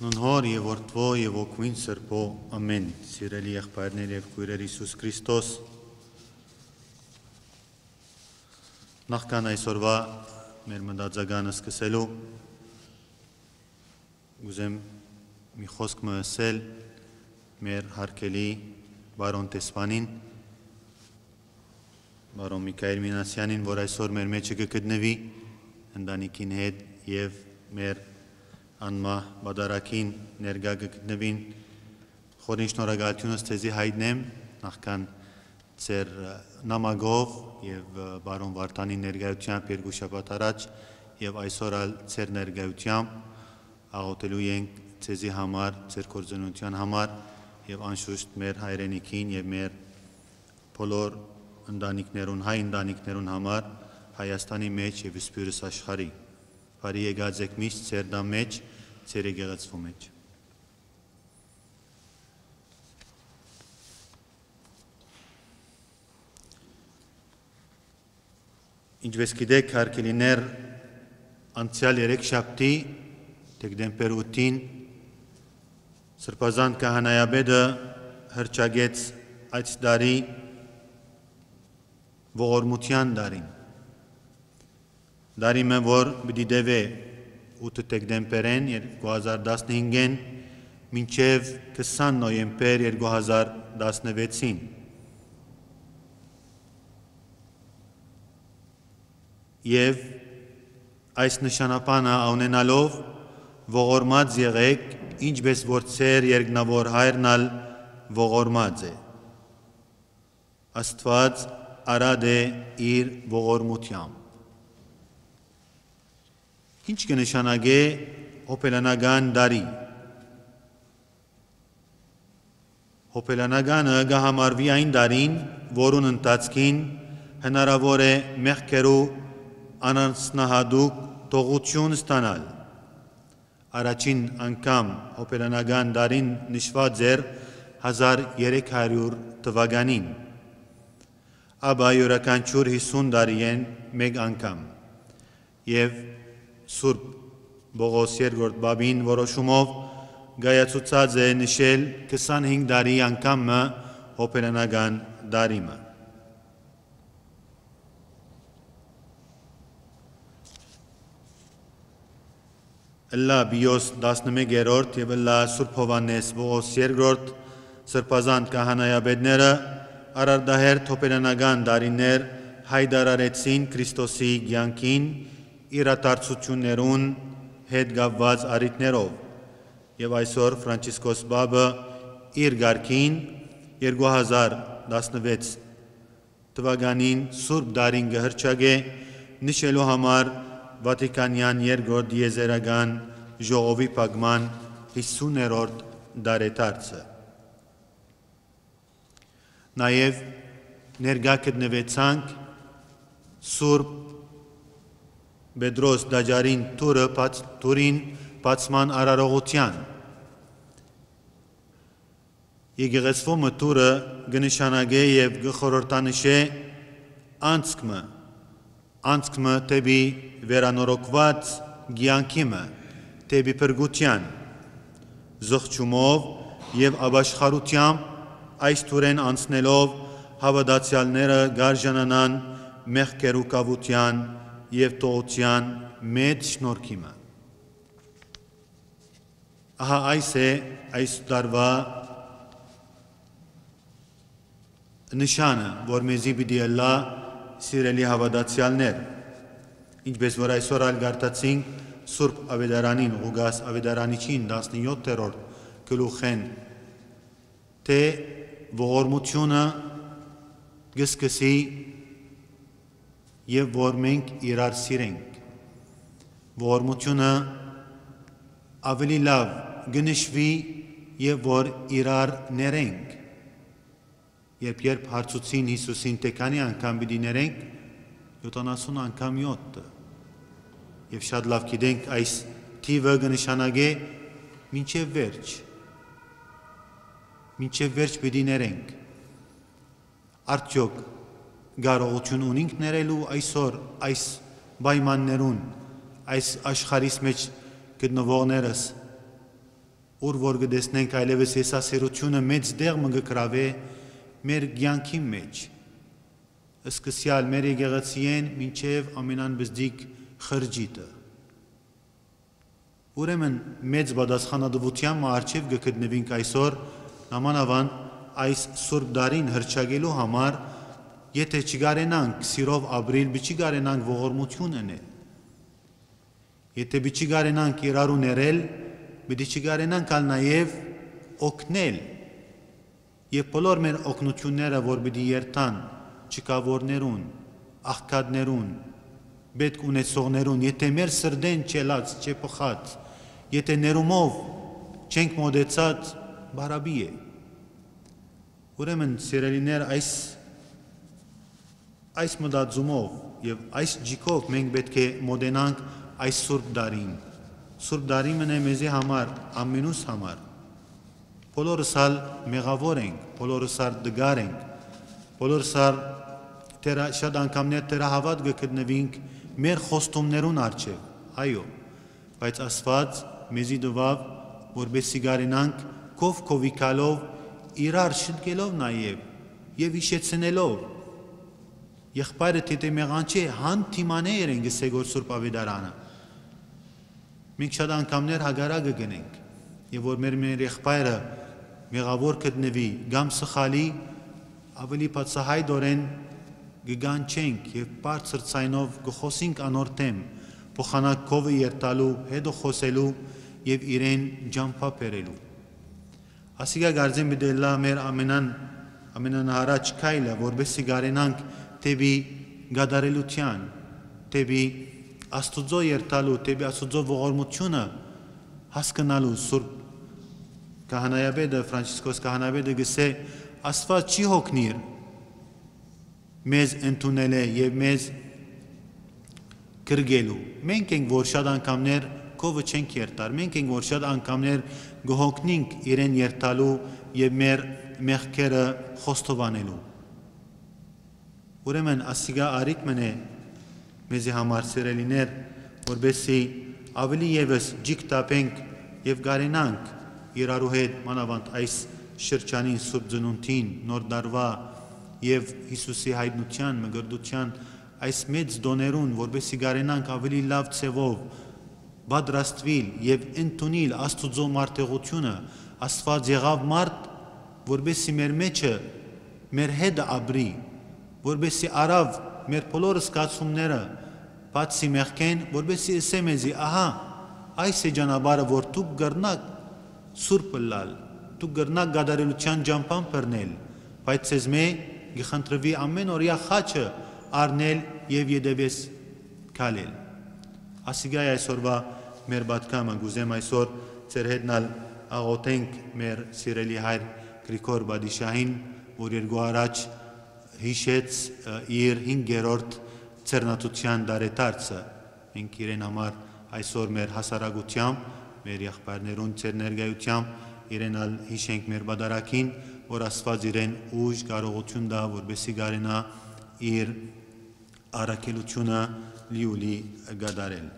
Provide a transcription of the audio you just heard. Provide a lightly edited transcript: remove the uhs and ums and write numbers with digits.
Նոնհոր եւ որդվո եւ օգուին սրբո ամեն սիրելի եղբայրներ եւ քույրեր Հիսուս Քրիստոս նախքան այսօրվա մեր մտածագանը սկսելու ուզեմ մի խոսք ասել մեր հարգելի բարոն տեսփանին բարոն Միքայել Մինասյանին, որ այսօր մեր մեջը կգտնվի ընտանիքին հետ եւ մեր անմա բادرակին ներգա գտնվին խորին շնորհակալությունս ցեզի հայտնեմ նախքան ծեր նամակով եւ բարոն Վարդանի ներկայությամբ երկու շաբաթ առաջ եւ այսօր ալ ծեր ներկայությամբ աղոթելու ենք ցեզի համար, ծեր կորձունության համար եւ անշուշտ մեր հայրենիքին եւ մեր բոլոր ընտանիքներուն, հայ ընտանիքներուն համար Հայաստանի մեջ եւ Սփյուռս աշխարհի բարի եկած եք միշտ ծեր դամ մեջ ծեր եկեղեցու մեջ Ինչպես գիտեք հարգելիներ անցյալ 3 շաբթի դեկտեմբեր 8-ին Սրբազան քահանայապետը հրճագեց այդ տարի ողորմության տարին Դարիմը որ պիտի դեվե 8 դեկտեմբերեն 2015-ին մինչև 20 նոյեմբեր 2016-ին Եվ այս նշանապանը ունենալով ողորմած եղեք ինչպես որ ծեր երկնավոր հայրն ալ ողորմած է Աստված արադ է իր ողորմությամբ Ինչ կնշանակե հոպելանական դարի Հոպելանականը կհամարվի այն դարին, որուն ընթացքին հնարավոր է մեղքերու անանցնահատուկ թողություն ստանալ Առաջին անգամ հոպելանական դարին նշված էր 1300 թվականին Ապա յուրաքանչյուր 50 տարի են մեկ անգամ Եվ Սուրբ Բողոս երկրորդ բաբին որոշումով գայացուցած է նշել 25 տարի անգամը հոպելանական դարիմը Լա բիոս 11-րդ եւ լա Սուրբ Հովանես Բողոս երկրորդ Սրբազան քահանայապետները արարդահերթ հոպելանական դարիներ հայտարարեցին Քրիստոսի կյանքին իրադարձություններուն հետ կապված առիթներով եւ այսօր Ֆրանցիսկոս Պապը իր ղարքին 2016 թվականին Սուրբ Դարին կհրճագե նշելու համար Վատիկանյան երկրորդ դիեզերական ժողովի փակման 50-րդ դարետարձը Նաեւ ներկա գտնվեցանք Սուրբ Պետրոս Դաջարին Թուրին բացման արարողության Եկեղեցու մտուրը կնշանակե եւ կխորհրդանշե անցքը դեպի վերանորոգված կյանքիմը դեպի փրկության զղջումով եւ ապաշխարությամբ այս թուրեն անցնելով հավատացյալները գարժանանան մեղքերու կավության եւ տողության մեծ շնորհքիմը Ահա այս է այս տարվա նշանը որ մեզի պիտի ըլլա սիրելի հավատացյալներ ինչպես որ այսօր ալ գարտացինք Սուրբ Ավետարանին Ղուգաս Ավետարանիչին 17-րդ գլուխեն թե ողորմությունը գսկսի եւ որ մենք իրար սիրենք ողորմությունը ավելի լավ գնշվի եւ որ իրար ներենք երբ հարցուցին Հիսուսին թե քանի անգամ պիտի ներենք 70 անգամ 7 եւ շատ լավ գիտենք այս թիվը կնշանակե մինչեւ վերջ պիտի ներենք արդյոք Գարողություն ունենք ներելու այսօր այս պայմաններուն այս աշխարհիս մեջ գտնվողներս ուր որ գտեսնենք այլևս եսասիրությունը մեծ դեղ մը գրավե մեր կյանքի մեջ, սկսյալ մեր եկեղեցիեն մինչև ամենանբզդիկ խրճիտը։ Ուրեմն մեծ պատասխանատվության առջև կգտնվենք այսօր նամանավանդ այս Սուրբ Դարին հռչակելու համար, եթե չգարենանք սիրով ապրիլ, չգարենանք ողորմություն անել, եթե չգարենանք իրարու ներել, պիտի չգարենանք ալ նաև օգնել, եւ բոլոր մեր օգնությունները, որ պիտի երթան չկավորներուն, աղքատներուն, պետք ունեցողներուն, եթե մեր սրդեն չելած, չփխած, եթե ներումով չենք մոտեցած, բարաբի է։ Ուրեմն սիրելիներ, այս մտածումով եւ այս ջիկով մենք պետք է մոտենանք այս Սուրբ Դարին։ Սուրբ Դարի մնե մեզի համար, ամենուս համար։ Բոլորս ալ մեղավոր ենք, բոլորս ալ դգար ենք, բոլորս ալ շատ անգամներ թերահավատ գտնվենք մեր խոստումներուն առջև, այո, բայց Աստված մեզի տվավ, որպեսզի գարենանք քովիկալով, իրար շտկելով նաև եւ հիշեցնելով։ Եղբայրը թե մեղանչի հանդիմանե երեն գսեգոր Սուրբ Ավետարանը։ Մենք շատ անգամներ հագարակը գնենք, եւ որ մեր եղբայրը մեղավոր գտնվի, կամ սխալի, ավելի բացահայտորեն գգանչենք եւ բարձր ցայնով գխոսենք անոր դեմ, փոխանակ քովը երթալու, հետո խոսելու եւ իրեն ջամփապերելու։ Ասիգա գարձեմ բդելա մեր ամենանահարաճ քայլը, որբեսի գարենանք տեբի գադարելության, տեբի Աստուծո երթալու, տեբի Աստուծո ողորմությունը հասկանալու։ Սուրբ Քահանայապետը Ֆրանցիսկոս Քահանայապետը գսե Աստված չի հոգնիր մեզ ընդունել է եւ մեզ գրգելու։ Մենք ենք որ շատ անգամներ քովը չենք երթար, մենք ենք որ շատ անգամներ գհոգնենք իրեն երթալու եւ մեր մեղքերը խոստովանելու։ Ուրեմն ասիգա արիք մնե մեզի համար սիրելիներ, որբեսի ավելի եւս ջիկ տապենք եւ գարենանք իրարու հետ մանավանդ այս շրջանին Սուրբ Ծնունդին, նոր դարվա եւ Հիսուսի հայտնության, մգրդության այս մեծ դոներուն, որբեսի գարենանք ավելի լավ ցևով պատրաստվել եւ ընդունել Աստուծո մարտեղությունը, Աստված եղավ մարդ, որբեսի մեր մեջը մեր հետ ապրի, որբեսի արավ մեր բոլոր զգացումները բացի մեղքեն, որբեսի ասե մեզի, ահա, այս է ճանապարհը, որ դուք գրնաք սուրբ լալ, դուք գրնաք գադարելության ջամփան բռնել, բայց ցեզ մե գխնդրվի ամեն օրյա խաչը առնել եւ յետևես քալել։ Ասիգայ այսօրվա մեր պատկամը գուզեմ այսօր ձեր հետնալ աղոթենք մեր սիրելի հայր Գրիգոր Բադիշահին, որ երկու առաջ հիշեց իր 5-րդ ցերնատության դարետարցը։ Մենք իրեն համար այսօր մեր հասարակությամբ, մեր եղբայրներուն ձեր ներկայությամբ իրեն ալ հիշենք մեր բադարակին, որ Աստված իրեն ուժ կարողություն տա, որպեսզի գարենա իր առաքելությունը լիուլի գադարել։